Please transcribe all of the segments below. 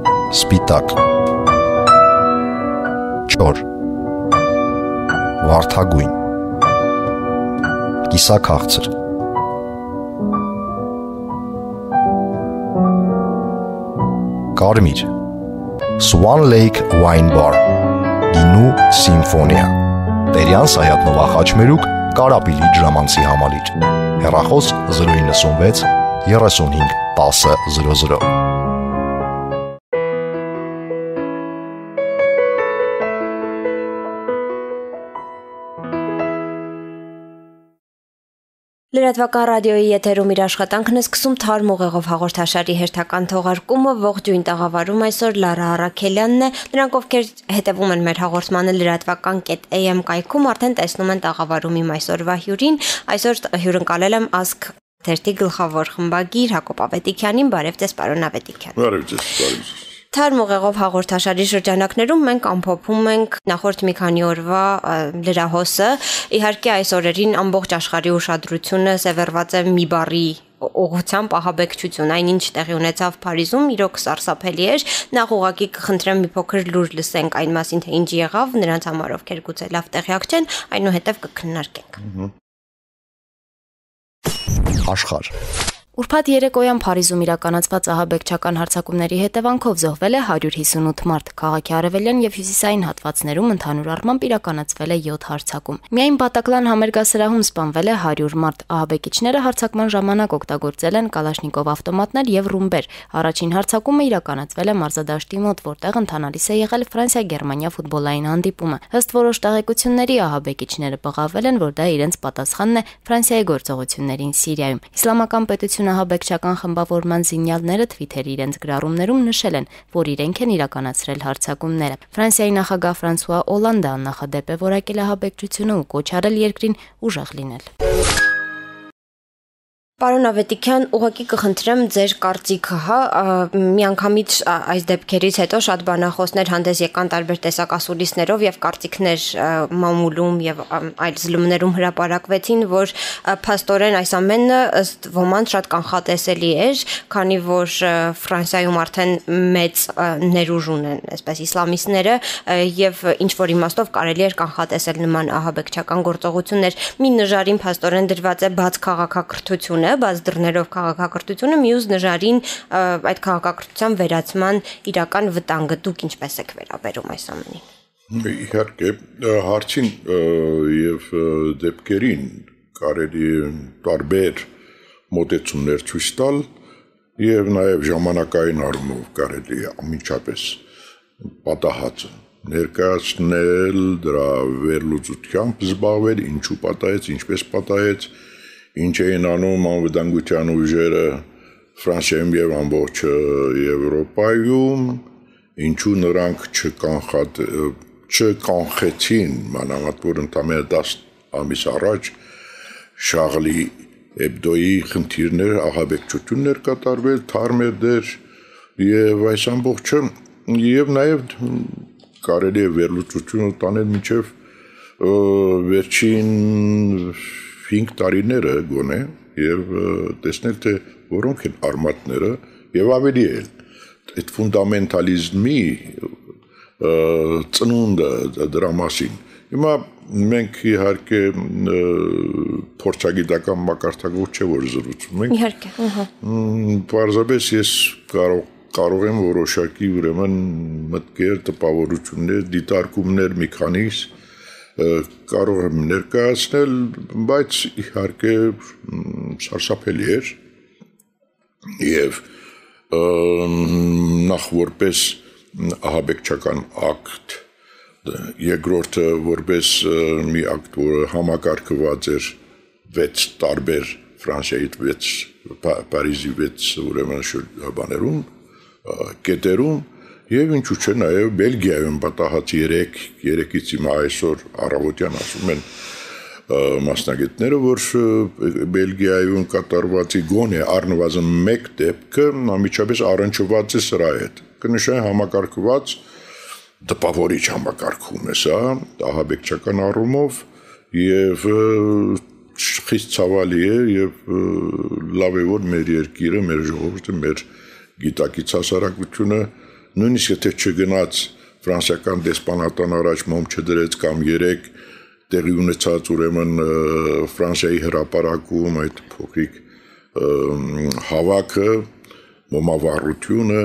Սպիտակ, չոր, վարդագույն, կիսաքաղցր, կարմիր, Swan Lake Wine Bar, գինու սիմֆոնիա, Տերյան Սայաթ-Նովա Խաչմերուկ, Կարապիլի ջրամանցի համալիր, հեռախոս 096 35 10 00 Լրատվական ռադիոյի եթերում իր աշխատանքն է սկսում Թարմ ուղեղով հաղորդաշարի հերթական թողարկումը, ողջույն տաղավարում այսօր Լարա Արաքելյանն է, նրանք ովքեր հետևում են մեր հաղորդմանը լրատվական.am կայքում արդեն տեսնում են տաղավարում իմ այսօրվա հյուրին, այսօր հյուրընկալել եմ Ազգ թերթի գլխավոր խմբագիր Հակոբ Ավետիքյանին, բարև ձեզ պարոն Ավետիքյան։ Բարև ձեզ։ Թարմ ուղեղով հաղորդաշարի շրջանակներում մենք ամփոփում ենք նախորդ մի քանի օրվա լրահոսը, իհարկե այս օրերին ամբողջ աշխարհի ուշադրությունը սևեռված է մի բառի ուղղությամբ ահաբեկչություն, այնինչ տեղի ունեցավ Փարիզում, իրոք սարսափելի էր, նախ ուղղակի կխնդրեմ մի փոքր լուր լսենք այն մասին, թե ինչ եղավ, նրանց համար ովքեր գուցե լավ տեղյակ չեն, այնուհետև կքննարկենք։ Աշխարհ Ուրբաթ երեկոյան Փարիզում իրականացված ահաբեկչական հարձակումների հետևանքով զոհվել է 158 մարդ, քաղաքի արևելյան եւ հյուսիսային հատվածներում ընդհանուր առմամբ իրականացվել է 7 հարձակում։ Միայն Բատակլան համերգասրահում սպանվել է 100 մարդ, ահաբեկիչները հարձակման ժամանակ օգտագործել են կալաշնիկով ավտոմատներ եւ ռումբեր։ Առաջին հարձակումը իրականացվել է մարզադաշտի մոտ, որտեղ ընթանալիս է եղել Ֆրանսիա-Գերմանիա ֆուտբոլային հանդիպումը։ Ըստ որոշ տեղեկությունների ահաբեկիչները բղավել են, որ դա իրենց պատասխանն է Ֆրանսիայի գործողություններին Սիրիայում։ Իսլամական պետությունը ահաբեկչական խմբավորման զինյալները Twitter-ի իրենց գրառումներում նշել են, որ իրենք են իրականացրել հարձակումները։ Ֆրանսիայի նախագահ Ֆրանսուଆ Օլանդը աննախադեպ է որակել ահաբեկչությունը ու կոչ արել երկրին ուժեղ լինել։ Պարոն Ավետիքյան, ուղղակի կխնդրեմ ձեր կարծիքը, միանգամից այս դեպքերից հետո շատ բանախոսներ հանդես եկան տարբեր տեսակ ասուլիսներով եւ կարծիքներ մամուլում եւ այլ զլումներում հրապարակվեցին, որ փաստորեն այս ամենը ըստ ոմանց շատ կանխատեսելի էր, քանի որ Ֆրանսիայում արդեն մեծ ներուժ ունեն, այսպես իսլամիստները եւ ինչ որ իմաստով կարելի էր կանխատեսել նման ահաբեկչական գործողություններ։ Մի նժարին փաստորեն դրված է բաց քաղաքակրթությունը, բաց դռներով քաղաքակրթությունը, մյուս նժարին այդ քաղաքակրթության վերացման իրական վտանգը, դուք ինչպես եք վերաբերում այս ամենին։ Իհարկե, հարցին եւ դեպքերին կարելի է տարբեր մոտեցումներ ցույց տալ եւ նաեւ ժամանակային առումով կարելի է անմիջապես պատահածը ներկայացնել, դրա վերլուծությամբ զբաղվել, ինչու պատահեց, ինչպես պատահեց, ինչ էին անում անվտանգության ուժերը Ֆրանսիայում եւ ամբողջ Եվրոպայում, ինչու նրանք չկանխեցին, մանավանդ որ ընդամենը 10 ամիս առաջ Շաղլի Էբդոյի խնդիրներ, ահաբեկչություններ կատարվել, թարմեր դեր եւ այս ամբողջը եւ նաեւ կարելի է վերլուծությունը տանել մինչեւ վերջին 5 տարիները գոնե եւ տեսնել թե որոնք են արմատները եւ ավելի էլ այդ ֆունդամենտալիզմի ծնունդը դրա մասին։ Հիմա մենք իհարկե փորձագիտական մակարդակով չէ որ զրուցում ենք։ Իհարկե, Պարզապես ես կարող եմ որոշակի ուրեմն մտքեր, տպավորություններ, դիտարկումներ մի քանիս կարող եմ ներկայացնել, բայց իհարկե սարսափելի էր եւ նախ որպես ահաբեկչական ակտ, երկրորդը որպես մի ակտ, որը համակարգված էր 6 տարբեր Ֆրանսիայի 6 Փարիզի 6 ուրեմն շրջաններում, կետերում Եվ ինչու՞ չէ նաև Բելգիայում պատահած 3-ից հիմա այսօր առավոտյան ասում են մասնագետները, որ Բելգիայում կատարվածի գոնե առնվազն 1 դեպքը անմիջապես առնչված է սրա հետ։ Կնշեն համակարգված տպավորիչ համակարգում է սա, ահաբեկչական առումով եւ խիստ ցավալի է եւ լավ է որ մեր երկիրը, մեր ժողովուրդը, մեր գիտակից հասարակությունը նույնիսկ եթե չգնաց ֆրանսիական դեսպանատան առաջ մոմ չդրեց կամ 3 տեղի ունեցած ուրեմն Ֆրանսիայի հրապարակում այդ փոքրիկ հավաքը, մոմավառությունը,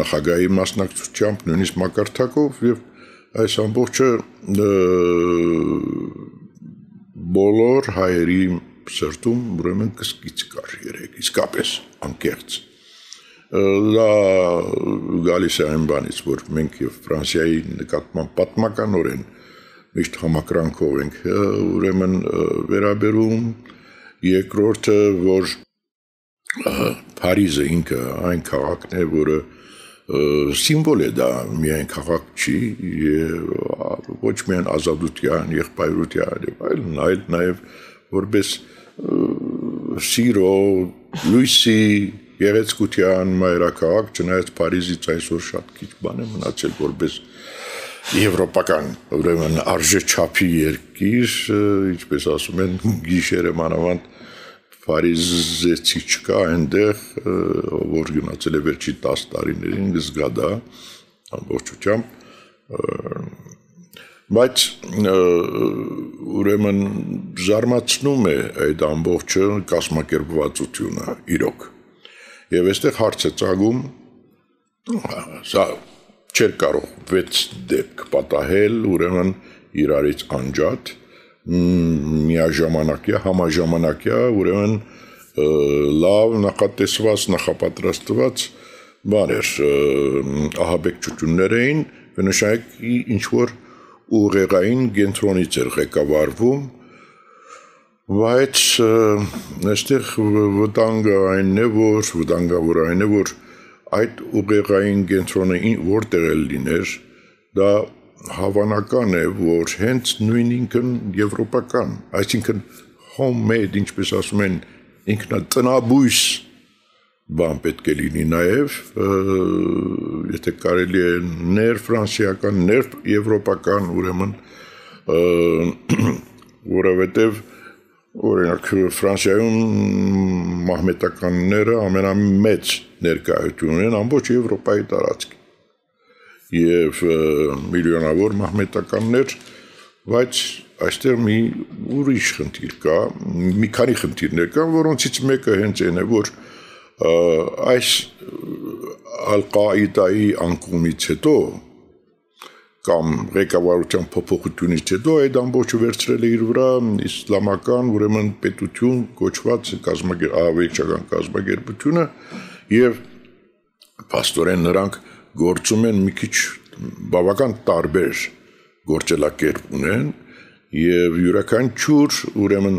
նախագահի մասնակցությամբ, նույնիսկ մակարդակով եւ այս ամբողջը բոլոր հայերի սրտում ուրեմն կսկիծ կար երեք, իսկապես անկեղծ։ Դա գալիս է այն բանից, որ մենք եւ Ֆրանսիայի նկատմամբ պատմականորեն միշտ համակրանքով ենք ուրեմն վերաբերում, երկրորդը, որ Փարիզը ինքը այն քաղաքն է, որը սիմվոլ է դա միայն քաղաք չի եւ ոչ միայն ազատության, եղբայրության եւ այլ նաեւ որպես սիրո, լույսի, գեղեցկության մայրաքաղաք, չնայած Փարիզից այսօր շատ քիչ բան է մնացել որպես եվրոպական ուրեմն արժեչափի երկիր, ինչպես ասում են, գիշերը մանավանդ Փարիզեցի չկա այնտեղ, որ գնացել է վերջի 10 տարիներին, զգա դա ամբողջությամբ, բայց ուրեմն զարմացնում է այդ ամբողջը կազմակերպվածությունը իրոք։ Եվ այստեղ հարց է ծագում, սա չէր կարող 6 դեպք պատահել, ուրեմն իրարից անջատ, միաժամանակյա, համաժամանակյա, ուրեմն լավ նախատեսված, նախապատրաստված բաներ, ահաբեկչություններ էին, բնականաբար ինչ-որ ուղեղային կենտրոնից էր ղեկավարվում, բայց այստեղ վտանգավոր այն է, որ այդ ուղեղային կենտրոնը որտեղ էլ լիներ, դա հավանական է, որ հենց նույն ինքն եվրոպական, այսինքն homemade, ինչպես ասում են, ինքնատնաբույս բան պետք է լինի նաև, եթե կարելի է ներ ֆրանսիական, ներ եվրոպական, ուրեմն, որովհետև օրինակ Ֆրանսիայում մահմետականները ամենամեծ ներկայություն են ամբողջ Եվրոպայի տարածքի եւ միլիոնավոր մահմետականներ, բայց այստեղ մի ուրիշ խնդիր կա, մի քանի խնդիրներ կան, որոնցից մեկը հենց այն է, որ այս Ալ-Ղաիդայի անկումից հետո կամ ղեկավարության փոփոխությունից հետո այդ ամբողջը վերցրել է իր վրա իսլամական ուրեմն պետություն կոչված ահաբեկչական կազմակերպությունը եւ փաստորեն նրանք գործում են մի քիչ բավական տարբեր գործելակերպ ունեն եւ յուրաքանչյուր ուրեմն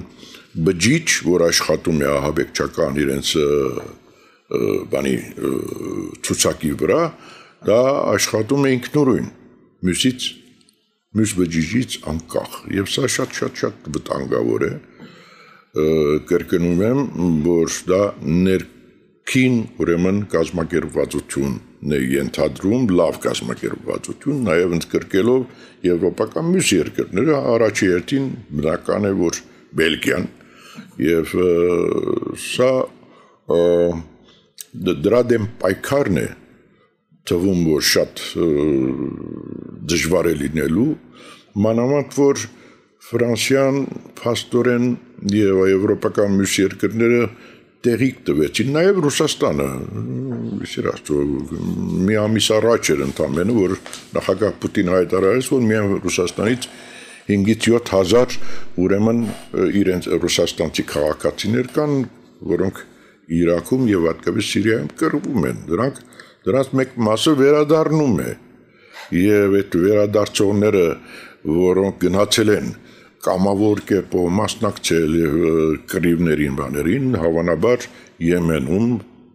բջիջ, որ աշխատում է ահաբեկչական իրենց բանի ցուցակի վրա, դա աշխատում է ինքնուրույն, մյուս բջիջից անկախ եւ սա շատ վտանգավոր է, կրկնում եմ, որ դա ներքին ուրեմն կազմակերպվածություն է ենթադրում, լավ կազմակերպվածություն, նաև ընդգրկելով եվրոպական մյուս երկրները, առաջի հերթին բնական է, որ Բելգիան, եւ սա դրա դեմ պայքարն է թվում, որ շատ դժվար է լինելու, մանավանդ որ Ֆրանսիան փաստորեն եւ եվրոպական մյուս երկրները տեղիք տվեցին, նաև Ռուսաստանը, մի ամիս առաջ էր ընդամենը, որ նախագահ Պուտինը հայտարարեց, որ միայն Ռուսաստանից 5-ից 7 հազար ուրեմն իրենց ռուսաստանցի քաղաքացիներ կան, որոնք Իրաքում եւ հատկապես Սիրիայում կռվում են, դրանց մեկ մասը վերադառնում է, եւ այդ վերադարձողները, որոնք գնացել են կամավոր կերպով մասնակցել կռիվներին բաներին, հավանաբար Եմենում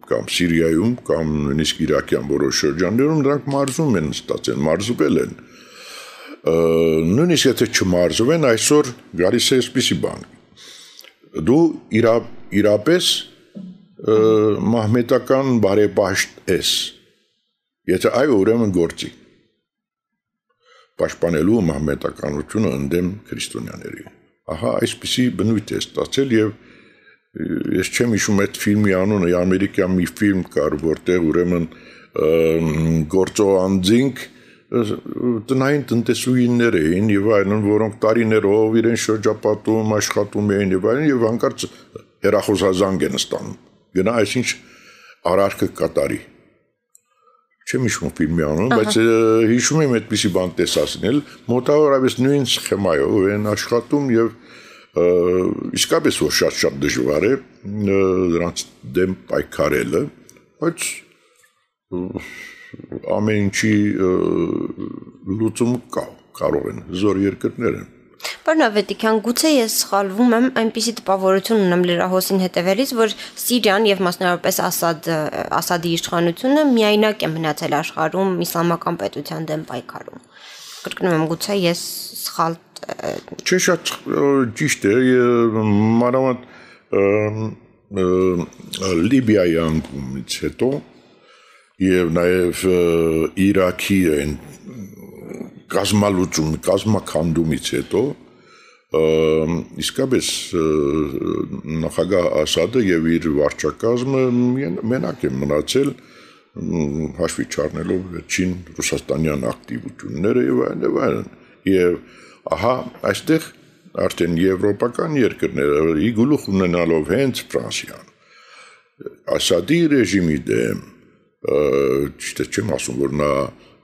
կամ Սիրիայում կամ նույնիսկ Իրաքյան որոշ շրջաններում նրանք մարզում են ստացել, մարզվել են։ Նույնիսկ եթե չմարզվեն, այսօր գալիս է այսպիսի բան։ Դու իրապես մահմետական բարեպաշտ ես։ Եթե այո, ուրեմն գործի։ Պաշտպանելու մահմետականությունը ընդդեմ քրիստոնյաների։ Ահա այսպիսի բնույթ է ստացել եւ ես չեմ հիշում այդ ֆիլմի անունը, ամերիկյան մի ֆիլմ կար, որտեղ ուրեմն գործող անձինք տնային տնտեսուհիներ էին եւ այլն, որոնք տարիներով իրեն շրջապատում աշխատում էին եւ այլն եւ հանկարծ հեռախոսազանգ են ստանում գնա այսինչ արարքը կատարի չեմ հիշում ֆիլմի անունը բայց հիշում եմ այդպիսի բան տեսածնել մոտավորապես նույն սխեմայով են աշխատում եւ իսկապես որ շատ դժվար է դրանց դեմ պայքարելը բայց ամեն ինչի լուծում կա կարող են զոր երկրներ են Պարոն Ավետիքյան, գուցե ես սխալվում եմ, այնպիսի տպավորություն ունեմ լրահոսին հետևելիս, որ Սիրիան եւ մասնավորապես Ասադի իշխանությունը միայնակ է մնացել աշխարհում իսլամական պետության դեմ պայքարում։ Կրկնում եմ, գուցե ես սխալ Չէ, շատ ճիշտ է, մանավանդ Լիբիայի անկումից հետո եւ նաեւ Իրաքի այն կազմաքանդումից հետո իսկապես նախագահ Ասադը եւ իր վարչակազմը մենակ են մնացել հաշվի չառնելով վերջին ռուսաստանյան ակտիվությունները եւ այլն եւ ահա այստեղ արդեն եվրոպական երկրները ի գլուխ ունենալով հենց Ֆրանսիան Ասադի ռեժիմի դեմ ճիշտ չեմ ասում որ նա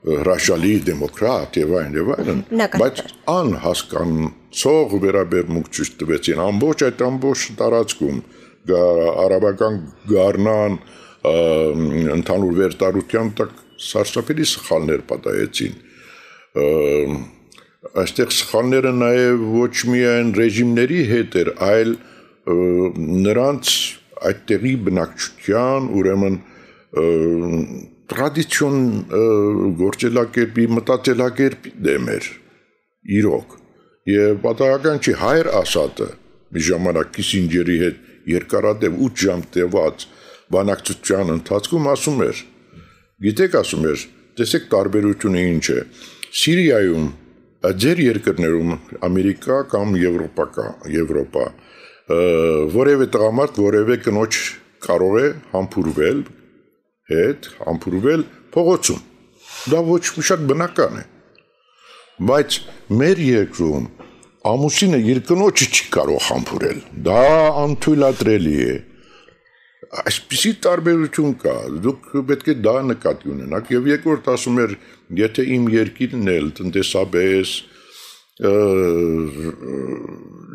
հրաշալի դեմոկրատ եւ այլն բայց անհասկանցող վերաբերմունք ցույց տվեցին ամբողջ տարածքում արաբական գառնան ընդհանուր վերտարության տակ սարսափելի սխալներ պատահեցին այստեղ սխալները նաեւ ոչ միայն ռեժիմների հետ էր այլ նրանց այդտեղի բնակչության ուրեմն տրադիցիոն գործելակերպի մտածելակերպի դեմ էր իրոք եւ պատահական չի հայր Ասադը մի ժամանակ Քիսինջերի հետ երկարատև 8 ժամ տևած բանակցության ընթացքում ասում էր գիտեք ասում էր տեսեք տարբերությունը ինչ է Սիրիայում ձեր երկրներում Ամերիկա կամ Եվրոպա որևէ տղամարդ որևէ կնոջ կարող է համբուրվել փողոցում դա ոչ շատ բնական է բայց մեր երկրում ամուսինը իր կնոջը չի կարող համբուրել դա անթույլատրելի է այսպիսի տարբերություն կա դուք պետք է դա նկատի ունենաք եւ երկրորդ ասում էր եթե իմ երկիրն էլ տնտեսապես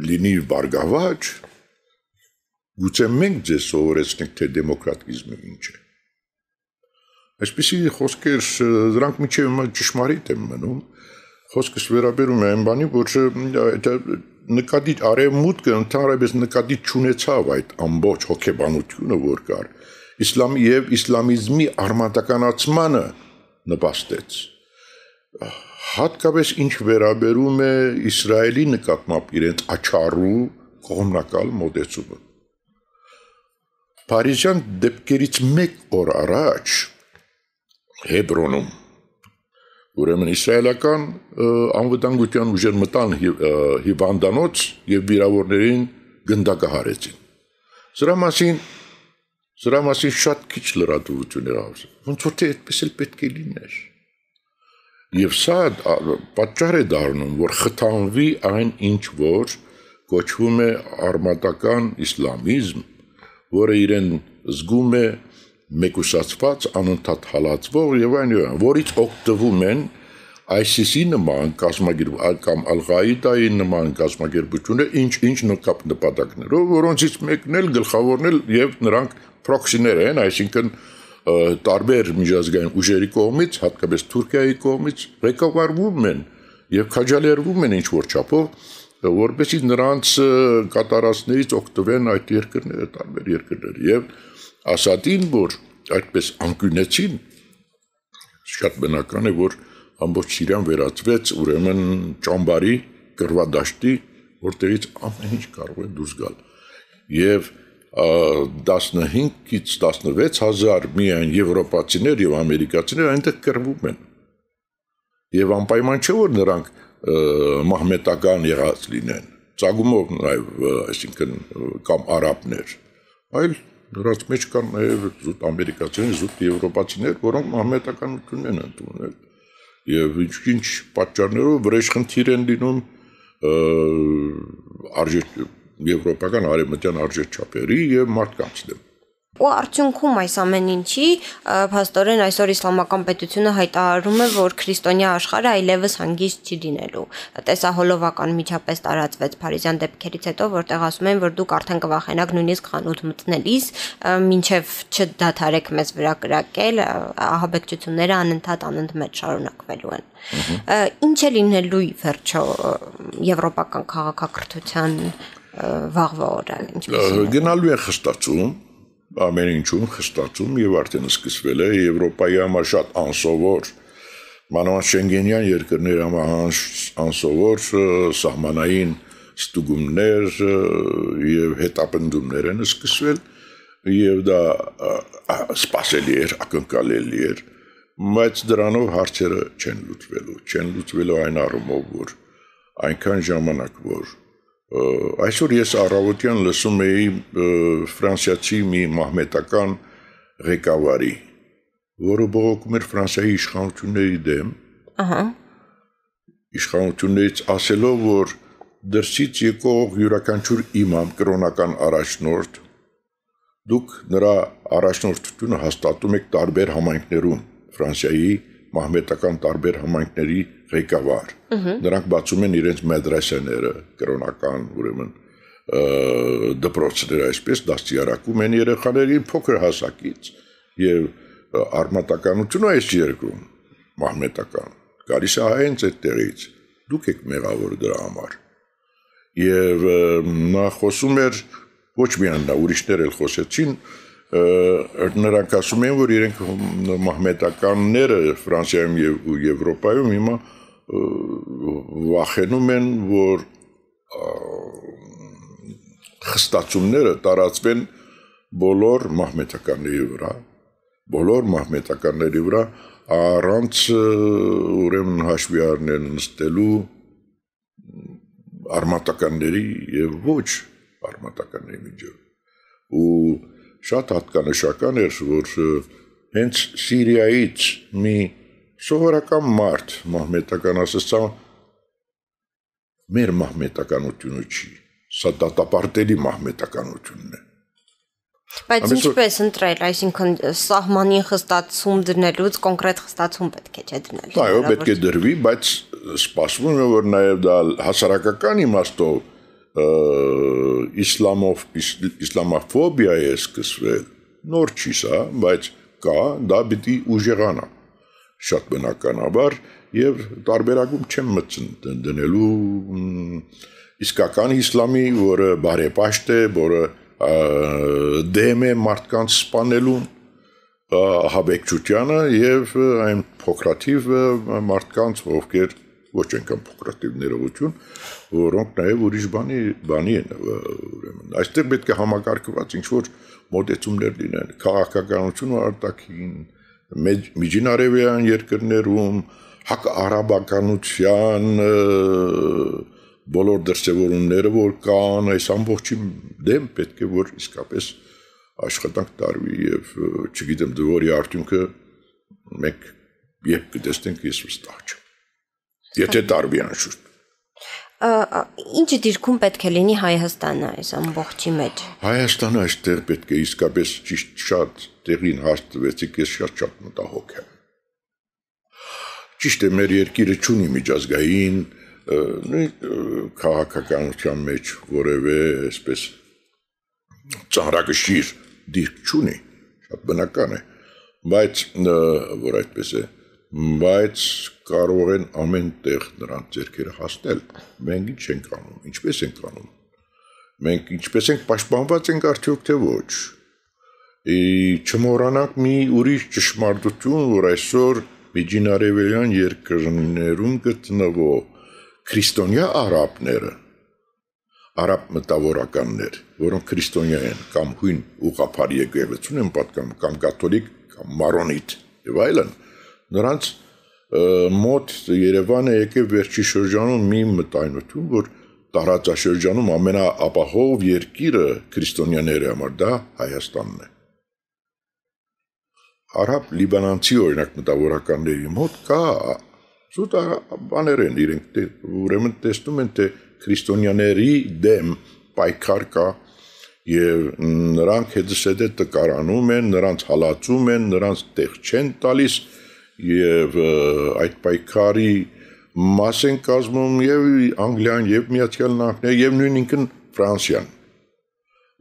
լինի բարգավաճ գուցե մենք ձեզ սովորեցնենք թե դեմոկրատիզմը ինչ է Այսպիսի խոսքեր դրանք միջև ճշմարիտ են մնում խոսքս վերաբերում է այն բանի որ նկատի արևմուտքը ընդհանրապես նկատի չունեցավ այդ ամբողջ հոգեբանությունը որ կար իսլամի եւ իսլամիզմի արմատականացմանը նպաստեց հատկապես ինչ վերաբերում է Իսրայելի նկատմամբ իրենց աչառու կողմնակալ մոտեցումը Փարիզյան դեպքերից մեկ օր առաջ Հեբրոնում ուրեմն իսրայելական անվտանգության ուժեր մտան հիվանդանոց եւ վիրավորներին գնդակահարեցին Սրա մասին շատ քիչ լրատվություն էր ասում ոնց որ թե այդպես էլ պետք է լիներ եւ սա պատճառ է դառնում որ խթանվի այն ինչ որ կոչվում է արմատական իսլամիզմ որը իրեն զգում է մեկուսացված անընդհատ հալածվող եւ այն որից օգտվում են ISIS-ի նման կամ Ալ-Ղաիդայի նման կազմակերպությունները ինչ նպատակներով որոնցից մեկն էլ գլխավորն էլ եւ նրանք պրոքսիներ են այսինքն տարբեր միջազգային ուժերի կողմից հատկապես Թուրքիայի կողմից ղեկավարվում են եւ քաջալերվում են ինչ որ չափով որպեսզի նրանց կատարածներից օգտվեն այդ երկրները տարբեր երկրներ եւ Ասադին, որ այդպես անկյունեցին, շատ բնական է, որ ամբողջ Սիրիան վերածվեց ուրեմն ճամբարի կռվադաշտի, որտեղից ամեն ինչ կարող է դուրս գալ։ Եվ 15-ից 16,000 միայն եվրոպացիներ եւ ամերիկացիներ այնտեղ կռվում են։ Եվ անպայման չէ, որ նրանք մահմետական եղած լինեն, ծագումով նաեւ, այսինքն կամ արաբներ, այլ Նրանց մեջ կան նաև զուտ ամերիկացիներ, զուտ եվրոպացիներ, որոնք մահմեդականությունն են ընդունել։ Եվ ինչ պատճառներով վրեժխնդիր են լինում եվրոպական արևմտյան արժեքչափերի եւ մարդկանց դեմ։ Ու արդյունքում այս ամեն ինչի փաստորեն այսօր իսլամական պետությունը հայտարարում է, որ քրիստոնյա աշխարհը այլևս հանգիստ չի լինելու։ Տեսահոլովական միջապես տարածվեց Փարիզյան դեպքերից հետո, որտեղ ասում են, որ դուք արդեն կվախենաք նույնիսկ խանութ մտնելիս, մինչև չդադարեք մեզ վրա կրակել, ահաբեկչությունները անընդմեջ շարունակվելու են։ Ինչ է լինելու վերջո եվրոպական քաղաքակրթության վաղվա օրը, ինչպես գնալու է խստացում ամեն ինչում խստացում եւ արդեն սկսվել է Եվրոպայի համար շատ անսովոր մանավանդ շենգենյան երկրների համար անսովոր սահմանային ստուգումներ եւ հետապնդումներ են սկսվել եւ դա սպասելի էր, ակնկալելի էր, բայց դրանով հարցերը չեն լուծվելու այն առումով, որ այնքան ժամանակ որ այսօր ես առավոտյան լսում էի ֆրանսիացի մի մահմետական ղեկավարի, որը բողոքում էր Ֆրանսիայի իշխանությունների դեմ, իշխանություններից ասելով, որ դրսից եկող յուրաքանչյուր իմամ կրոնական առաջնորդ, դուք նրա առաջնորդությունը հաստատում եք տարբեր համայնքներում, Ֆրանսիայի մահմետական տարբեր համայնքների ղեկավար։ Նրանք բացում են իրենց մեդրեսեները, կրոնական, ուրեմն դպրոցները այսպես դաստիարակում են երեխաներին փոքր հասակից եւ արմատականությունը այս երկրում մահմետական գալիս է հենց այդտեղից դուք եք մեղավոր դրա համար եւ նա խոսում էր ոչ միայն նա ուրիշներ էլ խոսեցին նրանք ասում են որ իրենք մահմետականները Ֆրանսիայում եւ Եվրոպայում հիմա վախենում են որ խստացումները տարածվեն բոլոր մահմետականների վրա առանց ուրեմն հաշվի առնել նստելու արմատականների եւ ոչ արմատականների միջև ու շատ հատկանշական էր որ հենց Սիրիայից մի սովորական մարդ մահմետական ասացա մեր մահմետականությունը չի սա դատապարտելի մահմետականությունն է բայց ինչպես ընտրել այսինքն սահմանին խստացում դնելուց կոնկրետ խստացում պետք է չէ դնել այո պետք է դրվի բայց սպասվում է որ նաև դա հասարակական իմաստով իսլամոֆոբիա է սկսվել նոր չի սա բայց կա դա պիտի ուժեղանա շատ բնականաբար եւ տարբերակում չեմ մտցն դնելու իսկական իսլամի որը բարեպաշտ է որը դեմ է մարդկանց սպանելուն հաբեկչությանը եւ այն փոքրաթիվ մարդկանց ովքեր ոչ այնքան փոքրաթիվ ներողություն որոնք նաեւ ուրիշ բանի են ուրեմն այստեղ պետք է համակարգված ինչ որ մոտեցումներ լինեն քաղաքականությունը արտաքին միջինարևելյան երկրներում հակաարաբականության բոլոր դրսևորումները որ կան այս ամբողջի դեմ պետք է որ իսկապես աշխատանք տարվի եւ չգիտեմ դժվարի արդյունքը մենք երբ կտեսնենք ես վստահ չեմ եթե տարվի անշուշտ Ինչ դիրքում պետք է լինի Հայաստանը այս ամբողջի մեջ Հայաստանը այստեղ պետք է իսկապես ճիշտ շատ տեղին հաստատվեցիք ես շատ մտահոգ եմ ճիշտ է մեր երկիրը չունի միջազգային քաղաքականության մեջ որևէ այսպես ծանրակշիռ դիրք չունի շատ բնական է բայց որ այդպես է բայց կարող են ամեն տեղ նրանց ձեռքերը հասնել մենք ինչ ենք անում ինչպես ենք անում մենք ինչպես ենք պաշտպանված ենք արդյոք թե ոչ չմոռանանք մի ուրիշ ճշմարտություն որ այսօր միջինարևելյան երկրներում գտնվող քրիստոնյա արաբները արաբ մտավորականներ որոնք քրիստոնյա են կամ հույն ուղղափառ եկեղեցուն են պատկանում կամ կաթոլիկ կամ մարոնիտ եւ այլն նրանց մոտ Երևանը եկավ վերջի շրջանում մի մտայնություն որ տարածաշրջանում ամենաապահով երկիրը քրիստոնյաների համար դա Հայաստանն է։ Արաբ լիբանանցի օրինակ մտավորականների մոտ կա զուտ բաներ են իրենք ուրեմն տեսնում են թե քրիստոնյաների դեմ պայքար կա եւ նրանք հետզհետե տկարանում են, նրանց հալածում են, նրանց տեղ չեն տալիս եւ այդ պայքարի մաս են կազմում եւ Անգլիան եւ Միացյալ Նահանգները եւ նույն ինքն Ֆրանսիան։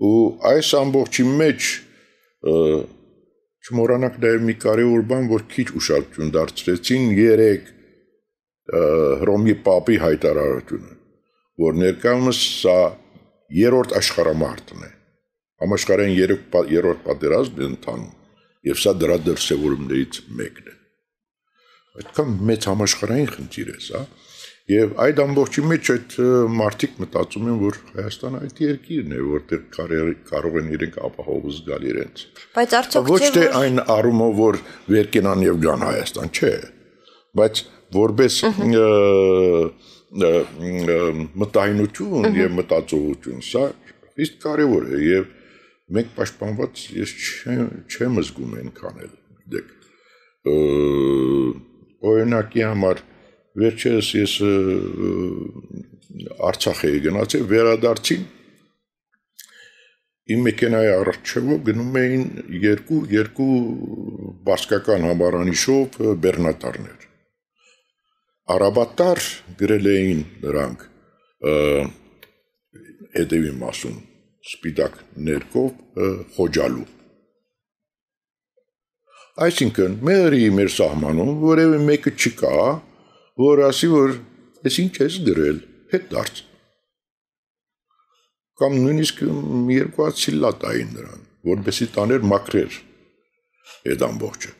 Ու այս ամբողջի մեջ չմոռանանք նաեւ մի կարևոր բան, որ քիչ ուշադրություն դարձրեցին 3 Հռոմի Պապի հայտարարությունը, որ ներկայումս սա երրորդ աշխարհամարտն է։ Համաշխարհային երրորդ պատերազմն է ընթանում, եւ սա դրա դրսևորումներից մեկն է։ Այդքան մեծ համաշխարհային խնդիր է սա, եւ այդ ամբողջի մեջ այդ մարդիկ մտածում են, որ Հայաստանը այդ երկիրն է, որտեղ կարող են իրենք ապահով զգալ իրենց։ Բայց արդյոք ոչ թե այն առումով, որ վեր կենան եւ գան Հայաստան, չէ, բայց որպես մտայնություն եւ մտածողություն, սա իսկ կարևոր է եւ մենք պաշտպանված ես չեմ զգում այնքան էլ, դեք օրինակի համար վերջերս ես Արցախ էի գնացել, վերադարձին իմ մեքենայի առջևով գնում էին երկու բասկական համարանիշով բեռնատարներ։ Արաբատար գրել էին նրանք հետևի մասում սպիտակ ներկով խոջալու։ Այսինքն մեր սահմանում որևէ մեկը չկա, որ ասի, որ ես ինչ ես գրել, հետ դարձ։ Կամ նույնիսկ երկու հատ սիլլա տային նրան, որպեսզի տաներ մաքրեր այդ ամբողջը։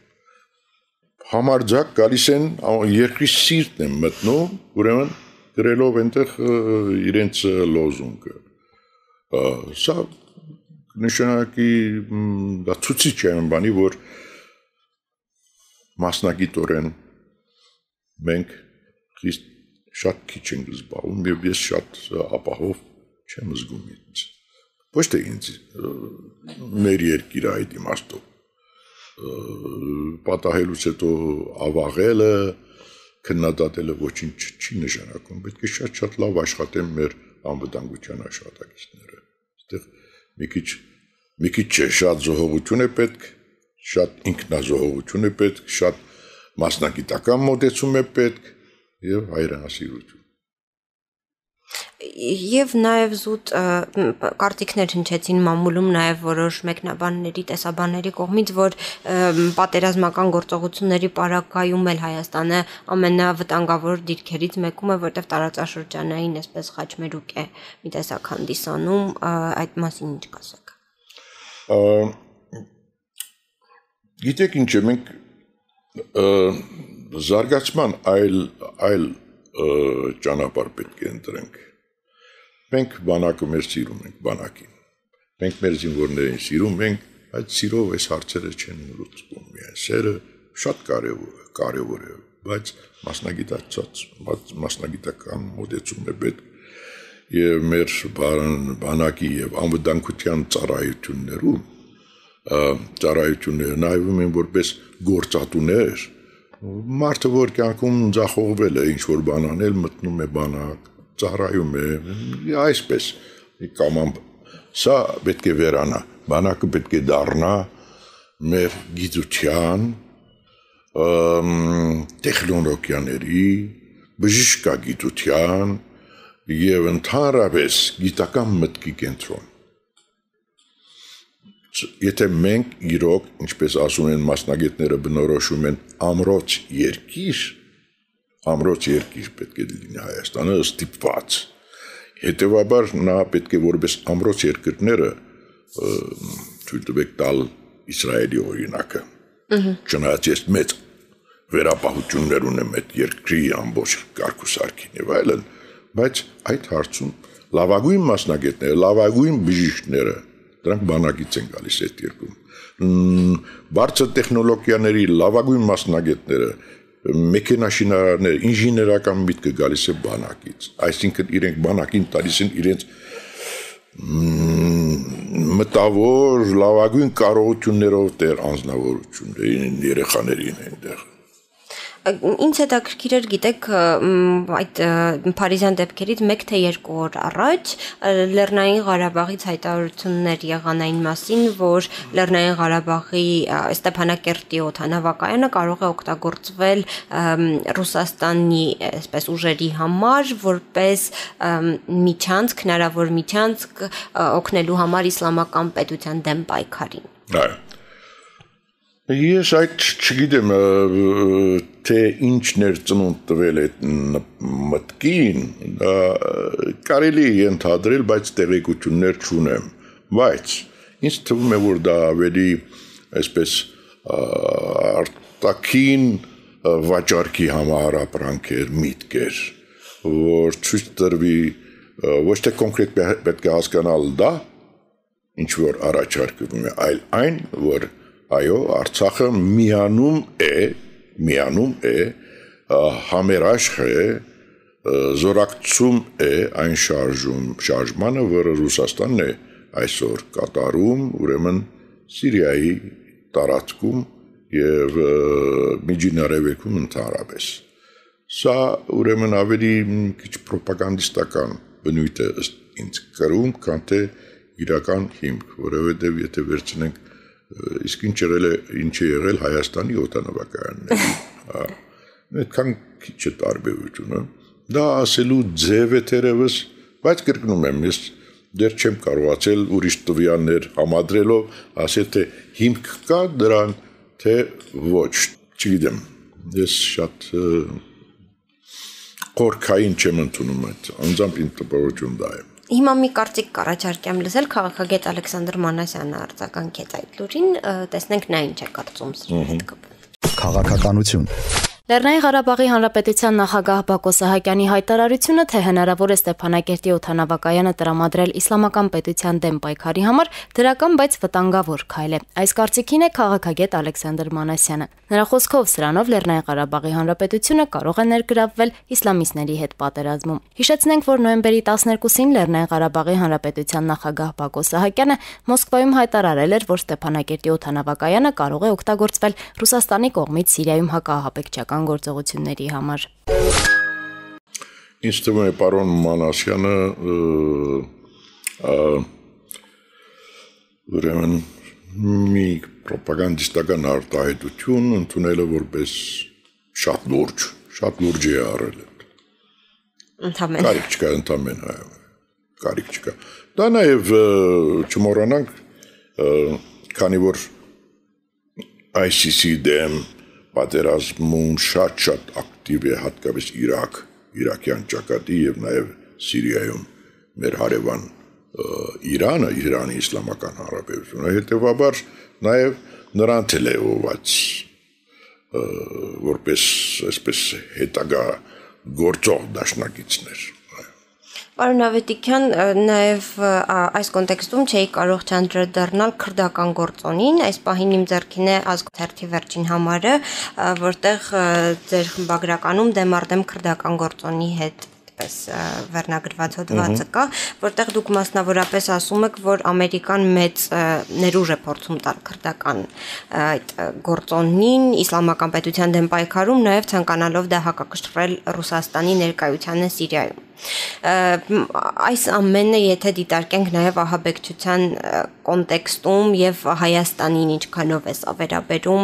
Համարձակ գալիս են երկրի սիրտն են մտնում, ուրեմն գրելով այնտեղ իրենց լոզունգը։ Սա նշանակի դա ցույցիչ է այն բանի, որ մասնագիտորեն մենք շատ քիչ ենք զբաղվում եւ ես շատ ապահով չեմ զգում ինձ։ Ոչ թե ինձ մեր երկիրը այդ իմաստով պատահելուց հետո ավաղելը, քննադատելը ոչինչ չի նշանակում, պետք է շատ լավ աշխատեն մեր անվտանգության աշխատակիցները։ Այստեղ մի քիչ չէ, շատ զոհողություն է պետք, շատ ինքնազոհողություն է պետք, շատ մասնագիտական մոտեցում է պետք եւ հայրենասիրություն։ Եվ նաև զուտ կարտիկներ հնչեցին մամուլում նաև որոշ մեկնաբանների, տեսաբանների կողմից, որ պատերազմական գործողությունների պարագայում էլ Հայաստանը ամենավտանգավոր դիրքերից մեկում է, որտեղ տարածաշրջանային այսպես խաչմերուկ է մի տեսակ հանդիսանում, այդ մասին ինչ կասեք։ Գիտեք ինչ է, մենք զարգացման այլ ճանապարհ պետք է ընտրենք։ Մենք բանակը մեր սիրում ենք, բանակին։ Մենք մեր զինվորներին սիրում ենք, այդ սիրով այս հարցերը չեն լուծվում միայն։ Սերը շատ կարևոր է, բայց մասնագիտական մոտեցումն է պետք եւ մեր բանակի եւ անվտանգության ծառայությունները նայվում են որպես գործատուներ։ Մարդը, որ կյանքում ձախողվել է, ինչ-որ բան անել, մտնում է բանակ, ծառայում է, այսպես կամամ, սա պետք է վերանա, բանակը պետք է դառնա մեր գիտության, տեխնոլոգիաների, բժշկագիտության եւ ընդհանրապես գիտական մտքի կենտրոն։ Եթե մենք իրոք, ինչպես ասում են մասնագետները բնորոշում են ամրոց երկիր պետք է լինի Հայաստանը ստիպված։ Հետևաբար նա պետք է որպես ամրոց երկրները թույլ տվեք տալ Իսրայելի օրինակը։ Չնայած ես մեծ վերապահություններ ունեմ այդ երկրի ամբողջ կարգուսարքին եւ այլն, բայց այդ հարցում լավագույն մասնագետները, լավագույն բժիշկները դրանք բանակից են գալիս այդ երկրում։ Բարձր տեխնոլոգիաների լավագույն մասնագետները մեքենաշինարարներ, ինժեներական միտքը գալիս է բանակից, այսինքն իրենք բանակին տալիս են իրենց մտավոր լավագույն կարողություններով դեր անձնավորություններին, երեխաներին այնտեղ։ Ինձ հետաքրքիր էր, գիտեք, այդ Փարիզյան դեպքերից 1 թե 2 օր առաջ Լեռնային Ղարաբաղից հայտարարություններ եղան այն մասին, որ Լեռնային Ղարաբաղի Ստեփանակերտի օդանավակայանը կարող է օգտագործվել Ռուսաստանի այսպես ուժերի համար, որպես միջանցք, հնարավոր միջանցք օգնելու համար իսլամական պետության դեմ պայքարին։ Այո։ Ես այդ չգիտեմ, թե ինչն էր ծնունդ տվել այդ մտքին, կարելի է ենթադրել, բայց տեղեկություններ չունեմ, բայց ինձ թվում է, որ դա ավելի այսպես արտաքին վաճառքի համար ապրանք էր, միտք էր, որ ցույց տրվի, ոչ թե կոնկրետ պետք է հասկանալ դա, ինչ որ առաջարկվում է, այլ այն, որ այո, Արցախը միանում է, համերաշխ է, զորակցում է այն շարժմանը, որը Ռուսաստանն է այսօր կատարում, ուրեմն Սիրիայի տարածքում եւ Միջին Արևելքում ընդհանրապես։ Սա ուրեմն ավելի քիչ պրոպագանդիստական բնույթ է ինձ կրում, քան թե իրական հիմք, որովհետեւ եթե վերցնենք իսկ ինչ է եղել Հայաստանի օդանավակայանները, այդքան քիչ է տարբերությունը, դա ասելու ձև է թերևս, բայց կրկնում եմ, ես դեռ չեմ կարողացել ուրիշ տվյալներ համադրելով ասել, թե հիմք կա դրան, թե ոչ, չգիտեմ, ես շատ խորքային չեմ ընդունում այդ, անձամբ ինձ տպավորություն դա է։ Հիմա մի կարծիք կառաջարկեմ լսել քաղաքագետ Ալեքսանդր Մանասյանը արձագանքեց այդ լուրին, տեսնենք նա ինչ է կարծում սրա հետ կապված։ Քաղաքականություն։ Լեռնային Ղարաբաղի Հանրապետության նախագահ Բակո Սահակյանի հայտարարությունը, թե հնարավոր է Ստեփանակերտի օդանավակայանը տրամադրել իսլամական պետության դեմ պայքարի համար, դրական, բայց վտանգավոր քայլ է։ Այս կարծիքին է քաղաքագետ Ալեքսանդր Մանասյանը։ Նրա խոսքով սրանով Լեռնային Ղարաբաղի Հանրապետությունը կարող է ներգրավվել իսլամիստների հետ պատերազմում։ Հիշեցնենք, որ նոյեմբերի 12-ին Լեռնային Ղարաբաղի Հանրապետության նախագահ Բակո Սահակյանը Մոսկվայում հայտարարել էր, որ Ստեփանակերտի օդանավակայանը կարող է օգտագործվել Ռուսաստանի կողմից Սիրիայում հակահապեկչական գործողությունների համար։ Ինձ թվում է պարոն Մանասյանը ուրեմն մի պրոպագանդիստական արտահայտություն ընդունել է որպես շատ լուրջ է արել։ Ընդամենը։ Կարիք չկա ընդամենը, կարիք չկա։ Դա նաև չմոռանանք, քանի որ ICC դեմ պատերազմում շատ ակտիվ է հատկապես Իրաքյան ճակատի եւ նաեւ Սիրիայում մեր հարևան Իրանը, Իրանի Իսլամական Հանրապետությունը, հետեւաբար նաեւ նրան թելեոված որպես այսպես հետագա գործող դաշնակիցներ։ Պարոն Ավետիքյան, նաև այս կոնտեքստում չէի կարող չանդրադառնալ քրդական գործոնին, այս պահին իմ ձեռքին է Ազգ-թերթի վերջին համարը, որտեղ ձեր խմբագրականում դեմ առ դեմ քրդական գործոնի հետ վերնագրված հոդվածը կա, որտեղ դուք մասնավորապես ասում եք, որ Ամերիկան մեծ ներուժ է փորձում տալ քրդական այդ գործոնին, իսլամական պետության դեմ պայքարում, նաև ցանկանալով դա հակակշռել Ռուսաստանի ներկայությանը Սիրիայում։ Այս ամենը եթե դիտարկենք նաև ահաբեկչության կոնտեքստում եւ Հայաստանին ինչքանով է սա վերաբերում,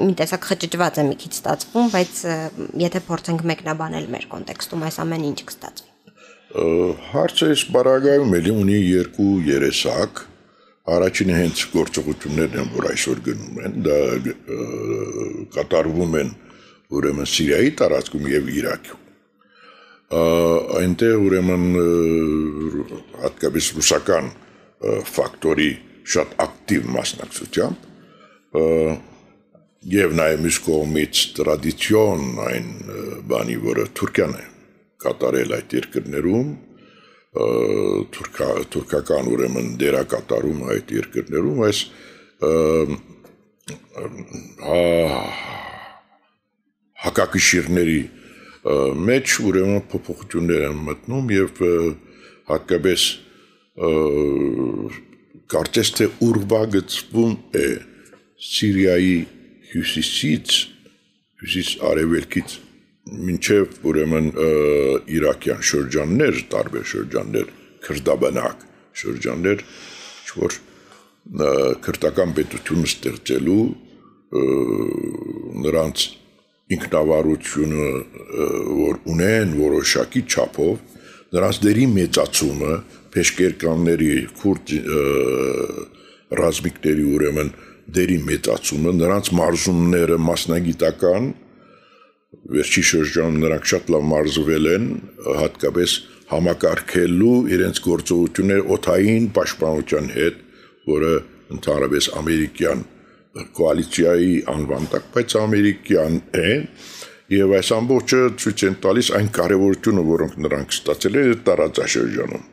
մի տեսակ խճճված է մի քիչ ստացվում, բայց եթե փորձենք մեկնաբանել մեր կոնտեքստում այս ամենը ինչ կստացվի։ Հարցը այս բարագայում էլի ունի երկու երեսակ, առաջինը հենց գործողություններն են, որ այսօր գնում են, դա կատարվում են ուրեմն Սիրիայի տարածքում եւ Իրաքում։ Այնտեղ ուրեմն հատկապես ռուսական ֆակտորի շատ ակտիվ մասնակցությամբ եւ նաեւ մյուս կողմից տրադիցիոն այն բանի, որը Թուրքիան է կատարել այդ երկրներում, թուրքական ուրեմն դերակատարում այդ երկրներում, այս հակակշիռների մեջ ուրեմն փոփոխություններ են մտնում եւ հատկապես կարծես թե ուրվագծվում է Սիրիայի հյուսիս արևելքից մինչև ուրեմն իրաքյան շրջաններ, տարբեր շրջաններ, քրդաբնակ շրջաններ, որ քրդական պետություն ստեղծելու նրանց ինքնավարությունը, որ ունեն որոշակի չափով, նրանց դերի մեծացումը, փեշկերկանների, քուրդ ռազմիկների ուրեմն դերի մեծացումը, նրանց մարզումները մասնագիտական, վերջի շրջանում նրանք շատ լավ մարզվել են, հատկապես համակարգելու իրենց գործողությունները օդային պաշտպանության հետ, որը ընդհանրապես ամերիկյան կոալիցիայի անվան տակ, բայց ամերիկյան է, եւ այս ամբողջը ցույց են տալիս այն կարեւորությունը, որոնք նրանք ստացել են տարածաշրջանում։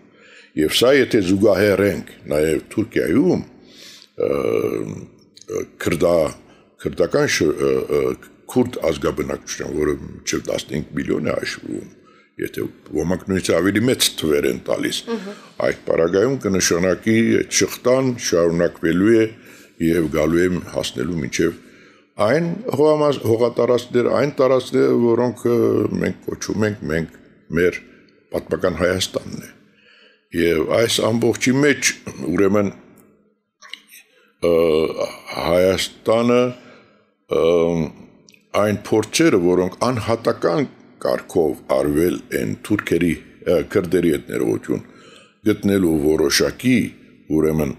Եվ սա եթե զուգահեռենք նաեւ Թուրքիայում քրդական քուրդ ազգաբնակչության, որը մինչև 15 միլիոն է հաշվում, եթե ոմանք նույնիսկ ավելի մեծ թվեր են տալիս, այդ պարագայում կնշանակի այդ շղթան շարունակվելու է եւ գալու է հասնելու մինչև այն հողատարածքներ, այն տարածքներ, որոնք մենք կոչում ենք մեր պատմական Հայաստանն է։ Եվ այս ամբողջի մեջ ուրեմն Հայաստանը այն փորձերը, որոնք անհատական կարգով արվել են թուրքերի քրդերի հետ ներողություն գտնելու որոշակի ուրեմն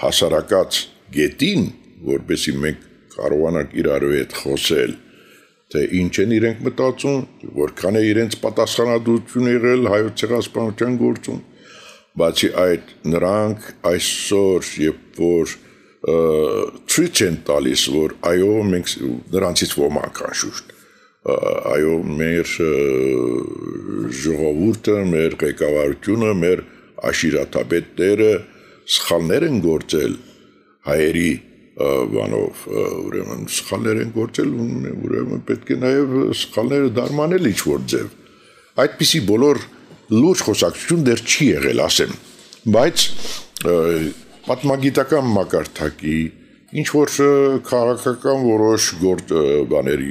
հասարակած գետին, որպեսզի մենք կարողանանք իրարու հետ խոսել, թե ինչ են իրենք մտածում, որքան է իրենց պատասխանատվություն եղել հայոց ցեղասպանության գործում, բացի այդ նրանք այսօր երբ որ ցույց են տալիս, որ այո մենք նրանցից ոմանք անշուշտ, այո մեր ժողովուրդը, մեր ղեկավարությունը, մեր աշիրատաբետները սխալներ են գործել հայերի բանով, ուրեմն սխալներ են գործել, ուրեմն պետք է նաև սխալները դարմանել ինչ-որ ձև։ Այդպիսի բոլոր լուրջ խոսակցություն դեռ չի եղել, ասեմ, բայց պատմագիտական մակարդակի, ինչ-որ քաղաքական որոշ բաների,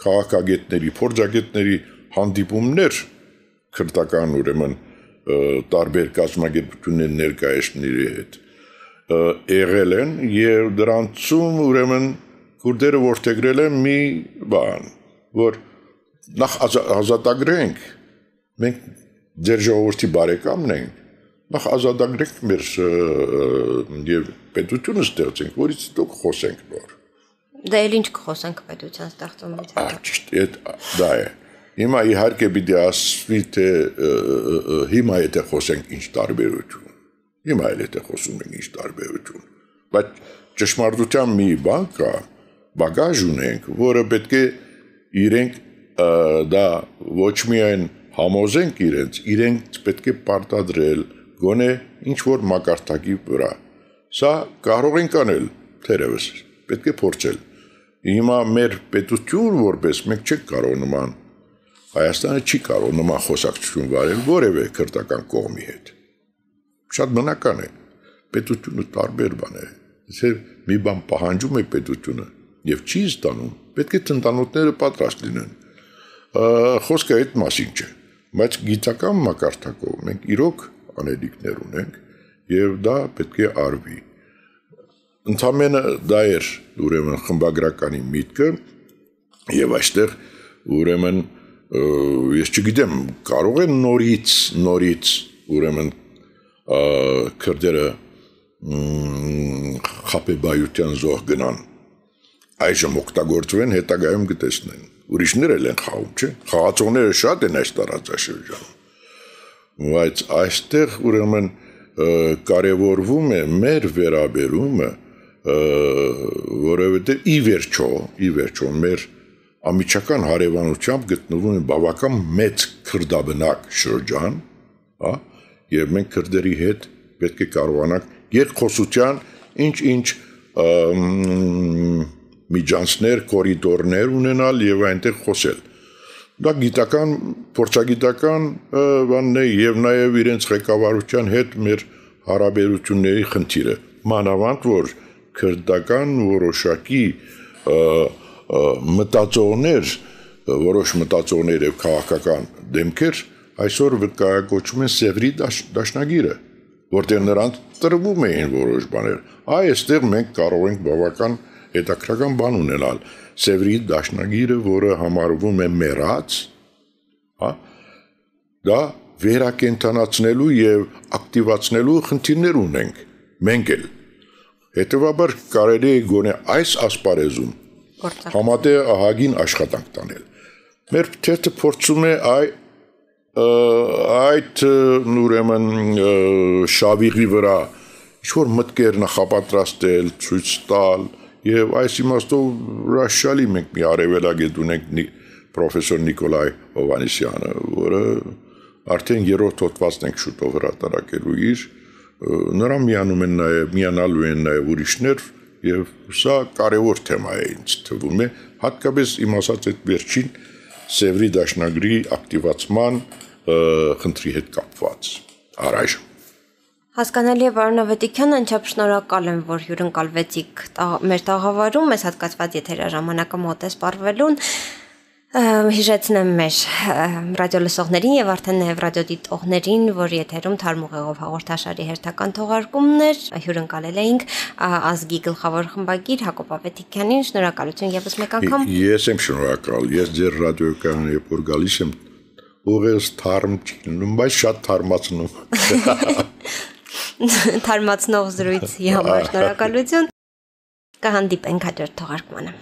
քաղաքագետների, փորձագետների հանդիպումներ քրդական ուրեմն տարբեր կազմակերպությունների ներկայացնողների հետ եղել են եւ դրանցում ուրեմն քուրդերը որդեգրել են մի բան, որ նախ ազատագրենք, մենք ձեր ժողովրդի բարեկամն ենք, նախ ազատագրենք մեր եւ պետությունը ստեղծենք, որից հետո խոսենք նոր։ Դա էլ ինչ կխոսենք պետության ստեղծումից հետո։ Ճիշտ, դա է։ Հիմա իհարկե պիտի ասվի, թե հիմա եթե խոսենք ինչ տարբերություն, հիմա էլ եթե խոսում ենք ինչ տարբերություն, բայց ճշմարտության մի բան կա, բագաժ ունենք, որը պետք է իրենք դա ոչ միայն համոզենք իրենք պետք է պարտադրել գոնե ինչ-որ մակարդակի վրա, սա կարող ենք անել, թերևս, պետք է փորձել, հիմա մեր պետություն որպես մենք չենք կարող նման Հայաստանը չի կարող նման խոսակցություն վարել որևէ քրդական կողմի հետ։ Շատ բնական է։ Պետությունը տարբեր բան է։ Եթե մի բան պահանջում է պետությունը եւ չի ստանում, պետք է տնտանոթները պատրաստ լինեն։ Խոսքը այդ մասին չէ, բայց գիտական մակարդակով մենք իրոք անելիքներ ունենք եւ դա պետք է արվի։ Ընդամենը դա էր ուրեմն խմբագրականի միտքը եւ այստեղ ուրեմն ես չգիտեմ, կարող են նորից ուրեմն քրդերը խապեբայության զոհ գնան, այժմ օգտագործվեն, հետագայում կտեսնեն, ուրիշներ էլ են խաղում, չէ, խաղացողները շատ են այս տարածաշրջանում, բայց այստեղ ուրեմն կարևորվում է մեր վերաբերումը, որովհետև ի վերջո մեր ամիջական հարևանությամբ գտնվում է բավական մեծ քրդաբնակ շրջան, եւ մենք քրդերի հետ պետք է կարողանանք երկխոսության ինչ միջանցներ, կորիդորներ ունենալ եւ այնտեղ խոսել։ Դա գիտական, փորձագիտական բանն է եւ նաեւ իրենց ղեկավարության հետ մեր հարաբերությունների խնդիրը։ Մանավանդ որ քրդական որոշակի մտածողներ, որոշ մտածողներ եւ քաղաքական դեմքեր այսօր վկայակոչում են Սևրի դաշնագիրը, որտեղ նրանց տրվում էին որոշ բաներ։ Այստեղ մենք կարող ենք բավական հետաքրքրական բան ունենալ։ Սևրի դաշնագիրը, որը համարվում է մեռած, հա, դա վերակենդանացնելու եւ ակտիվացնելու խնդիրներ ունենք մենք էլ։ Հետևաբար կարելի է գոնե այս ասպարեզում համատեղ ահագին աշխատանք տանել։ Մեր թերթը փորձում է այդ ուրեմն շավիղի վրա ինչ-որ մտքեր նախապատրաստել, ցույց տալ եւ այս իմաստով հրաշալի մենք մի արևելագետ ունենք պրոֆեսոր Նիկոլայ Հովանեսյանը, որը արդեն երրորդ հոդվածն ենք շուտով հրատարակելու իր, նրան միանալու են նաեւ ուրիշներ եւ սա կարեւոր թեմա է ինձ թվում է, հատկապես իմ ասած այդ վերջին Սևրի դաշնագրի ակտիվացման խնդրի հետ կապված առայժմ։ Հասկանալի է, պարոն Ավետիքյան, անչափ շնորհակալ եմ, որ հյուրընկալվեցիք մեր տաղավարում, այս հատկացված եթերաժամանակը մոտ է սպառվելուն։ Հիշեցնեմ մեր ռադիոլսողներին եւ արդեն նաեւ ռադիոդիտողներին, որ եթերում Թարմուղեղով հաղորդաշարի հերթական թողարկումներ հյուրընկալել էինք ազգի գլխավոր խմբագիր Հակոբ Ավետիքյանին, շնորհակալություն եւս մեկ անգամ։ Ես եմ շնորհակալ, ես ձեր ռադիոկայանը երբ որ գալիս եմ, ուղղակի թարմ չլինում, բայց շատ թարմացնում։ Թարմացնող զրույցի համար շնորհակալություն։ Կհանդիպենք հաջորդ թողարկմանը։